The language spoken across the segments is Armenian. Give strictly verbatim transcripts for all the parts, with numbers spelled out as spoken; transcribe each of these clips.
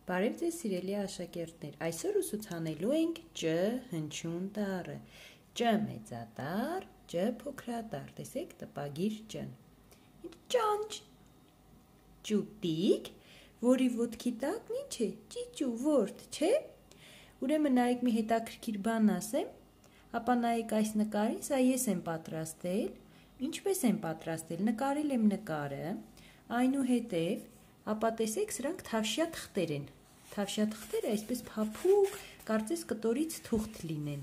Բարև ձեզ սիրելի աշակերտներ, այսօր ուսուցանելու ենք Ջ հնչյուն տառը, Ջ մեծատառ, Ջ փոքրատառ, տեսեք տպագիր Ջ-ն, ճանճ, ճուտիկ, որի ոտքի տակն ինչ է, ճիճու ворդ, չէ, ուրեմն նայեք մի հետաքրքիր բան ասեմ, ապա նայեք այս նկարին, սա ես եմ պատրաստել, ինչպես եմ պատրաստել, նկարել եմ նկարը, այնուհետև ապա տեսեք սրանք թավշյա թղթեր են, թավշյա թղթերը այսպես փափուկ, կարծես կտորից թուղթ լինեն,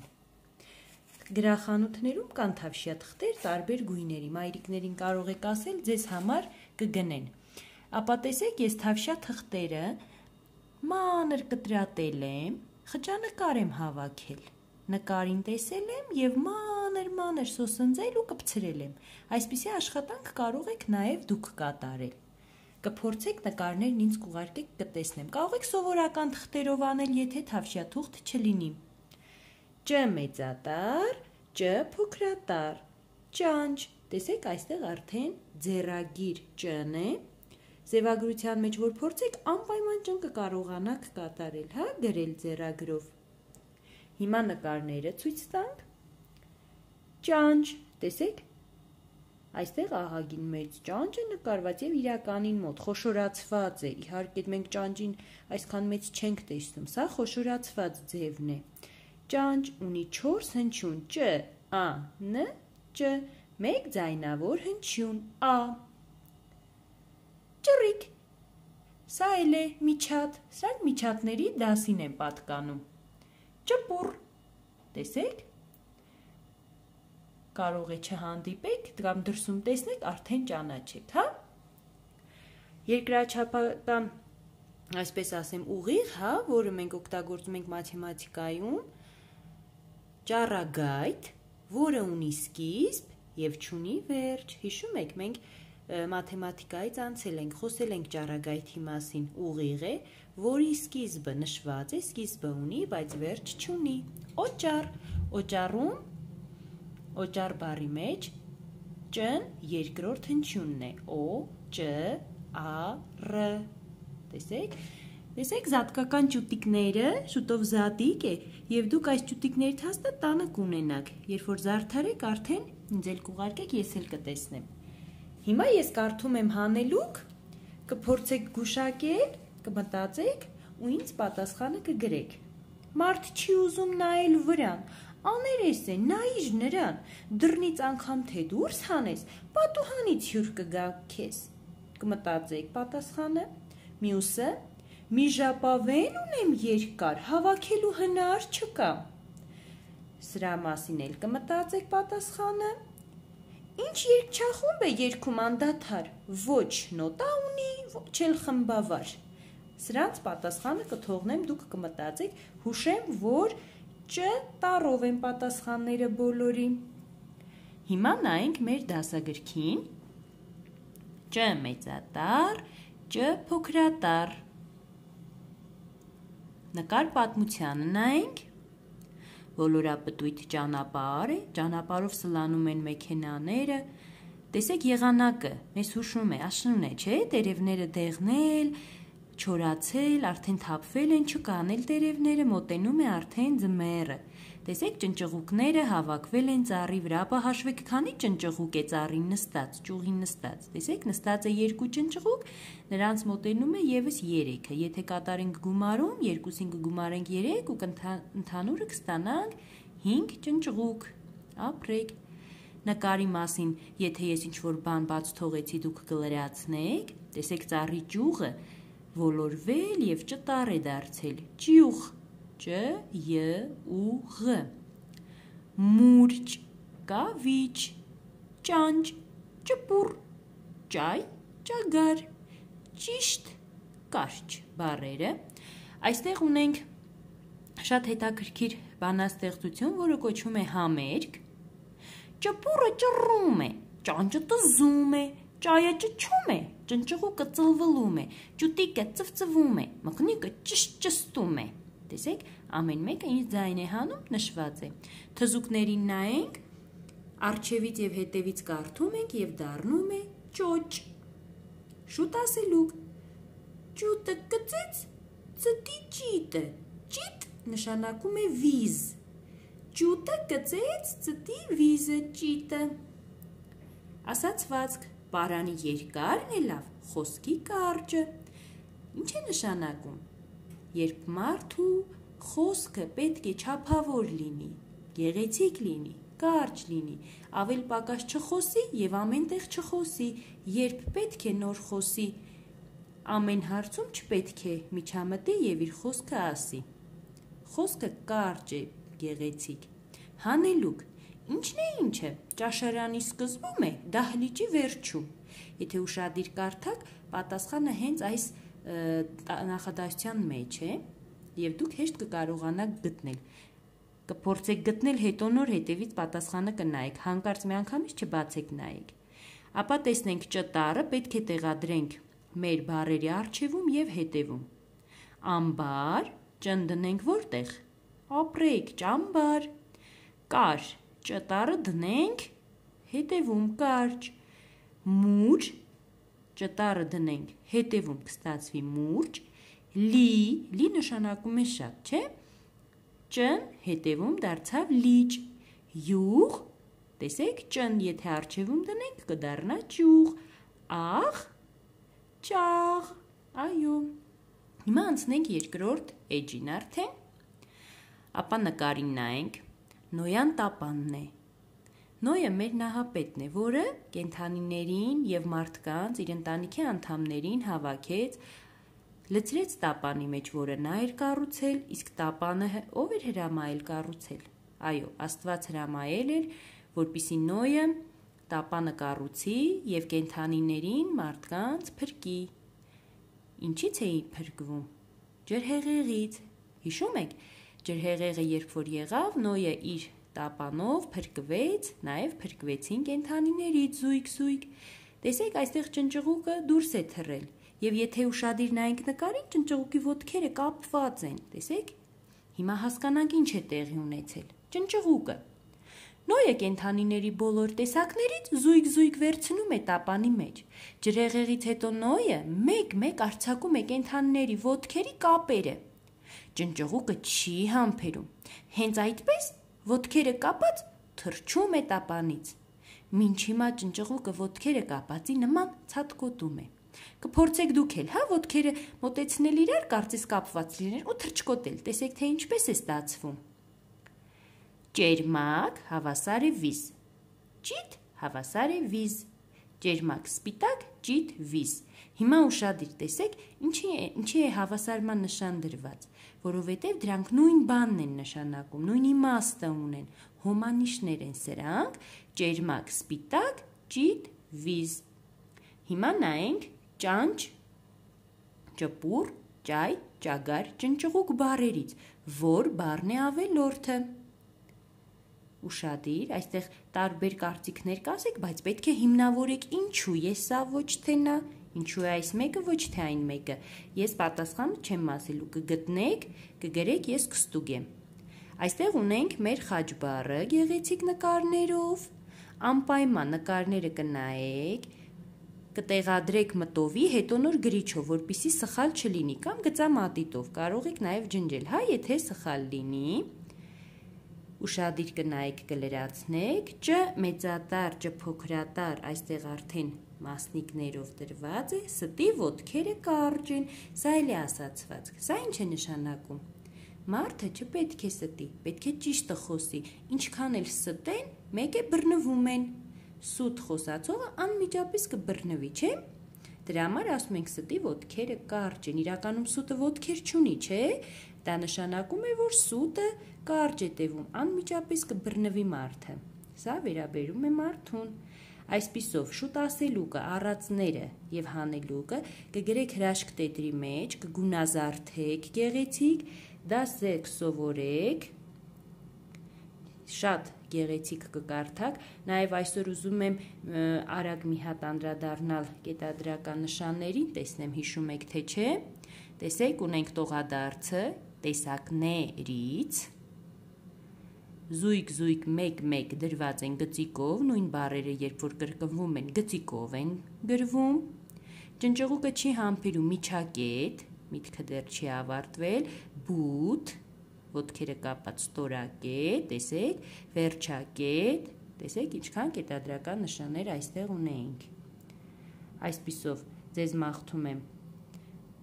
գրախանութներում կան թավշյա թղթեր տարբեր գույների, մայրիկներին կարող եք ասել ձեզ համար կգնեն, ապա տեսեք ես թավշյա թղթերը մանր կտրատել եմ, խճանկար եմ հավաքել, նկարին տեսել եմ և մանր մանր սոսնձել ու կպցրել եմ, այսպիսի աշխատանք կարող եք նաև դուք կատարել, կփորձեք նկարներն ինձ կուղարկեք կտեսնեմ, կարող եք սովորական թղթերով անել, եթե թավշյա թուղթ չլինի, Ջ մեծատառ, Ջ փոքրատառ, ճանճ, տեսեք այստեղ արդեն ձեռագիր Ջ-ն է, ձևագրության մեջ որ փորձեք անպայման Ջ-ն կկարողանաք կատարել, հա, գրել ձեռագրով, հիմա նկարները ցույց տանք, ճանճ, տեսեք, այստեղ ահագին մեծ ճանճ է նկարված և իրականին մոտ, խոշորացված է, իհարկե մենք ճանճին այսքան մեծ չենք տեսնում, սա խոշորացված ձևն է, ճանճ ունի չորս հնչյուն, Ճ, Ա, Ն, Ջ, մեկ ձայնավոր հնչյուն, Ա, ճռիկ, սա էլ է միջատ, սրանք միջատների դասին են պատկանում, ճպուռ, տեսեք, կարող է չհանդիպեք, կամ դրսում տեսնեք, արդեն ճանաչեք, հա, երկրաչափական, այսպես ասեմ, ուղիղ, հա, որը մենք օգտագործում ենք մաթեմատիկայում, ճառագայթ, որը ունի սկիզբ և չունի վերջ, հիշում եք, մենք մաթեմատիկայից անցել ենք, խոսել ենք ճառագայթի մասին, ուղիղ է, որի սկիզբը նշված է, սկիզբը ունի, բայց վերջ չունի, օճառ, օճառում, օճառ բառի մեջ Ջ-ն երկրորդ հնչյունն է, Օ, Ջ, Ա, Ռ, տեսեք, տեսեք զատկական ճուտիկները, շուտով զատիկ է, և դուք այս ճուտիկներից հաստատ տանը կունենաք, երբ որ զարդարեք արդեն ինձ էլ կուղարկեք, ես էլ կտեսնեմ, հիմա ես կարդում եմ հանելուկ, կփորձեք գուշակել, կմտածեք ու ինձ պատասխանը կգրեք, մարդ չի ուզում նայել վրան, աներես է, նայիր նրան, դռնից անգամ թե դուրս հանես, պատուհանից հյուր կգա քեզ, կմտածեք պատասխանը, մյուսը, մի ժապավեն ունեմ երկար, հավաքելու հնար չկա, սրա մասին էլ կմտածեք պատասխանը, ինչ երգչախումբ է երգում անդադար, ոչ նոտա ունի, ոչ էլ խմբավար, սրանց պատասխանը կթողնեմ, դուք կմտածեք, հուշեմ, որ Ջ տառով են պատասխանները բոլորի, հիմա նայենք մեր դասագրքին, Ջ մեծատառ, Ջ փոքրատառ, նկար պատմությանը նայենք, ոլորապտույտ ճանապարհ է, ճանապարհով սլանում են մեքենաները, տեսեք եղանակը, մեզ հուշում է, աշուն է, չէ, տերևները դեղնել, չորացել, արդեն թափվել են, չկանել տերևները, մոտենում է արդեն ձմեռը, տեսեք ճնճղուկները հավաքվել են ծառի վրա, ապա հաշվեք քանի ճնճղուկ է ծառին նստած, ճյուղին նստած, տեսեք նստած է երկու ճնճղուկ, նրանց մոտենում է ևս երեքը, եթե կատարենք գումարում, երկուսին կգումարենք երեք ու ընդհանուրը կստանանք հինգ ճնճղուկ, ապրեք, նկարի մասին, եթե ես ինչ-որ բան բաց թողեցի դուք կլրացնեք, տեսեք ծառի ճյուղը, ոլորվել և ճտառ է դարձել, ճյուղ, Ջ, Յ, ու Ղ, մուրճ, կավիճ, ճանճ, ճպուռ, ճայ, ճագար, ճիշտ, կարճ բառերը, այստեղ ունենք շատ հետաքրքիր բանաստեղծություն, որը կոչվում է համերգ, ճպուռը ճռում է, ճանճը տզում է, ճայը ճչում է, ճնճղուկը ծլվլում է, ճուտիկը ծվծվում է, մկնիկը ճշճստում է, տեսեք, ամեն մեկը ինչ ձայն է հանում, նշված է, թզուկներին նայենք, առջևից և հետևից կարդում ենք և դառնում է ճոճ, շուտ ասելուկ, ճուտը կծեց, ճիտը, ճիտ նշանակում է վիզ, ճուտը կծեց ծտի վիզը ճիտը։ Ասացվածք, պարանի երկարն է լավ, խոսքի կարճը։ Ինչ է նշանակում, երբ մարդու խոսքը պետք է չափավոր լինի, գեղեցիկ լինի, կարճ լինի, ավել պակաս չխոսի և ամեն տեղ չխոսի, երբ պետք է նոր խոսի, ամեն հարցում չպետք է միջամտի և իր խոսքը ասի։ Խոսքը կարճ է, գեղեցիկ։ Հանելուկ, ինչն է ինչը, ճաշարանի սկզբում է, դահլիճի վերջում։ Եթե ուշադիր կարդաք, պատասխանը հենց այս նախադասության մեջ է, և դուք հեշտ կկարողանաք գտնել։ Կփորձեք գտնել, հետո նոր հետևից պատասխանը կնայեք, հանկարծ մի անգամից չբացեք նայեք։ Ապա տեսնենք ճ տառը պետք է տեղադրենք մեր բառերի առջևում և հետևում։ Ամբար, ճ-ն դնենք որտեղ։ Ապրեք, ճամբար։ Կար, ճ տառը դնենք հետևում կարճ։ Մուր, ճ տառը դնենք հետևում կստացվի մուրճ։ Լի, լի նշանակում է շատ, չէ՞։ Ճ-ն հետևում դարձավ լիճ։ Յուղ, տեսեք, ճ-ն եթե առջևում դնենք կդառնա ճյուղ։ Աղ, ճաղ, այո։ Հիմա անցնենք երկրորդ էջին արդեն։ Ապա նկարին նայենք, Նոյան տապանն է։ Նոյը մեր նահապետն է, որը կենդանիներին և մարդկանց իր ընտանիքի անդամներին հավաքեց, լցրեց տապանի մեջ, որը նա էր կառուցել, իսկ տապանը ով էր հրամայել կառուցել։ Այո, Աստված հրամայել էր, որպեսզի Նոյը տապանը կառուցի և կենդանիներին, մարդկանց փրկի։ Ինչից էի փրկվում։ Ջրհեղեղից։ Հիշում եք, ջրհեղեղը երբ որ եղավ, Նոյը իր տապանով փրկվեց, նաև փրկվեցին կենդանիներից զույգ-զույգ։ Տեսեք, այստեղ ճնճղուկը դուրս է թռել, և եթե ուշադիր նայենք նկարին, ճնճղուկի ոտքերը կապված են, տեսեք։ Հիմա հասկանանք ինչ է տեղի ունեցել։ Ճնճղուկը։ Նոյը կենդանիների բոլոր տեսակներից զույգ-զույգ վերցնում է տապանի մեջ։ Ջրհեղեղից հետո Նոյը մեկ-մեկ արձակում է կենդանիների ոտքերի կապերը։ Ճնճղուկը չի համբերում։ Հենց այդպես ոտքերը կապած թռչում է տապանից։ Մինչ հիմա ճնճղուկը ոտքերը կապածի նման ցատկոտում է։ Կփորձեք դուք էլ, հա, ոտքերը մոտեցնել իրար, կարծես կապված լինեն ու թռչկոտել, տեսեք թե ինչպես է ստացվում։ Ճերմակ, հավասար է վիզ։ Ճիտ, հավասար է վիզ։ Ճերմակ, սպիտակ, ճիտ, վիզ։ Հիմա ուշադիր տեսեք, ինչի է, ինչի է հավասարման նշան դրված, որովհետև դրանք նույն բանն են նշանակում, նույն իմաստը ունեն, հոմանիշներ են սրանք, ճերմակ, սպիտակ, ճիտ, վիզ։ Հիմա նայենք ճանճ, ճպուր, ճայ, ճագար, ճնճղուկ բառերից, որ բառն է ավելորդը։ Ուշադիր, այստեղ տարբեր կարծիքներ կասեք, բայց պետք է հիմնավորեք ինչու է սա ոչ թե նա, ինչու է այս մեկը ոչ թե այն մեկը։ Ես պատասխանը չեմ ասելու, կգտնեք, կգրեք, ես կստուգեմ։ Այստեղ ունենք մեր խաչ բառը գեղեցիկ նկարներով, անպայման նկարները կնայեք, կտեղադրեք մտովի, հետո նոր գրիչով, որպեսզի սխալ չլինի, կամ գծամատիտով, կարող եք նաև ջնջել, հա, եթե սխալ լինի։ Ուշադիր կնայեք, կլրացնեք, ճ մեծատառ, ճ փոքրատառ, այստեղ արդեն մասնիկներով դրված է, ստի ոտքերը կարճ են, սա էլ է ասացված, սա ինչ է նշանակում։ Մարդը չպետք է ստի, պետք է ճիշտը խոսի, ինչքան էլ ստեն, մեկ է բռնվում են։ Սուտ խոսացողը անմիջապես կբռնվի, չէ՞։ Դրա համար ասում ենք ստի ոտքերը կարճ են, իրականում սուտը ոտքեր չունի, չէ՞։ Դա նշանակում է, որ սուտը կարճ է տևում, անմիջապես կբռնվի մարդը։ Սա վերաբերում է մարդուն։ Այսպիսով շուտ ասելուկը, առածները և հանելուկը կգրեք հրաշք տետրի մեջ, կգունազարդեք գեղեցիկ, դասեք սովորեք, շատ գեղեցիկ կկարդաք, նաև այսօր ուզում եմ արագ մի հատ անդրադառնալ կետադրական նշաններին, տեսնեմ հիշում եք թե չէ, տեսեք ունենք տողադարձը, տեսակներից, զույգ-զույգ մեկ-մեկ դրված են գծիկով, նույն բառերը երբ որ կրկնվում են գծիկով են գրվում, ճնճղուկը չի համբերում միջակետ, միտքը դեռ չի ավարտվել, but, ոտքերը կապած ստորակետ, տեսեք, վերջակետ, տեսեք, ինչքան կետադրական նշաններ այստեղ ունեինք։ Այսպիսով ձեզ մաղթում եմ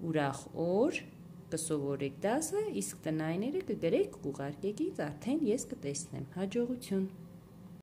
ուրախ օր, կսովորեք դասը, իսկ տնայինները կգրեք, կուղարկեք ինձ, արդեն ես կտեսնեմ։ Հաջողություն։